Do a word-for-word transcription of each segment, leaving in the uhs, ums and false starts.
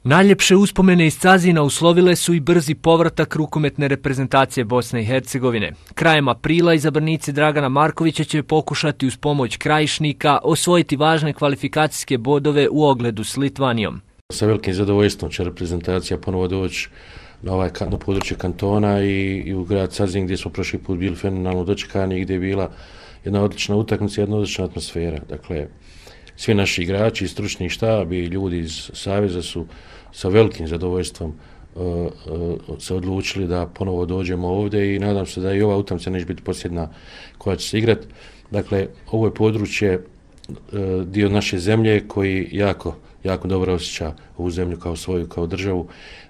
Najljepše uspomene iz Cazina uslovile su i brzi povratak rukometne reprezentacije Bosne i Hercegovine. Krajem aprila izabranici Dragana Markovića će pokušati uz pomoć Krajišnika osvojiti važne kvalifikacijske bodove u ogledu s Litvanijom. Sa velikim zadovoljstvom će reprezentacija ponovo doći na, ovaj, na područje kantona i, i u grad Cazin gdje smo prošli put bili fenomenalno dočekani i gdje je bila jedna odlična utakmica, jedna odlična atmosfera. Dakle, svi naši igrači, stručni štab i ljudi iz Saveza su sa velikim zadovoljstvom uh, uh, se odlučili da ponovo dođemo ovdje i nadam se da i ova utakmica neće biti posljedna koja će se igrati. Dakle, ovo je područje uh, dio naše zemlje koji jako, jako dobro osjeća ovu zemlju kao svoju, kao državu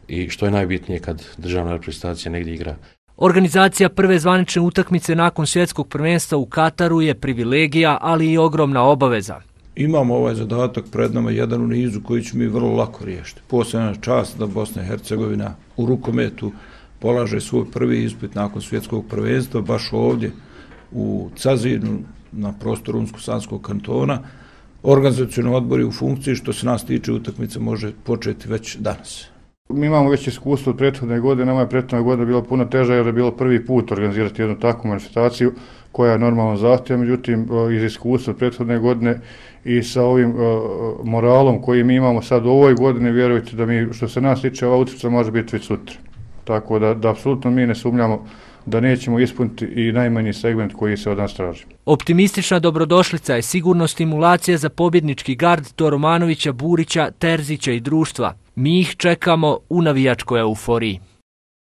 i što je najbitnije kad državna reprezentacija negdje igra. Organizacija prve zvanične utakmice nakon svjetskog prvenstva u Kataru je privilegija, ali i ogromna obaveza. Imamo ovaj zadatak pred nama, jedan u nizu koji ćemo mi vrlo lako riješiti. Posebna čast da Bosna i Hercegovina u rukometu polaže svoj prvi ispit nakon svjetskog prvenstva, baš ovdje u Cazinu, na prostoru Unsko-Sanskog kantona. Organizacioni odbor je u funkciji, što se nas tiče utakmica može početi već danas. Mi imamo već iskustvo od prethodne godine, nama je prethodna godina bila puno teža jer je bilo prvi put organizirati jednu takvu manifestaciju koja je normalno zahtjeva, međutim iz iskustva od prethodne godine i sa ovim uh, moralom koji mi imamo sad u ovoj godini, vjerujte da mi, što se nas tiče, ova utakmica može biti već sutra. Tako da, da apsolutno mi ne sumnjamo da nećemo ispuniti i najmanji segment koji se od nas traži. Optimistična dobrodošlica je sigurno stimulacija za pobjednički gard Toromanovića, Burića, Terzića i društva. Mi ih čekamo u navijačkoj euforiji.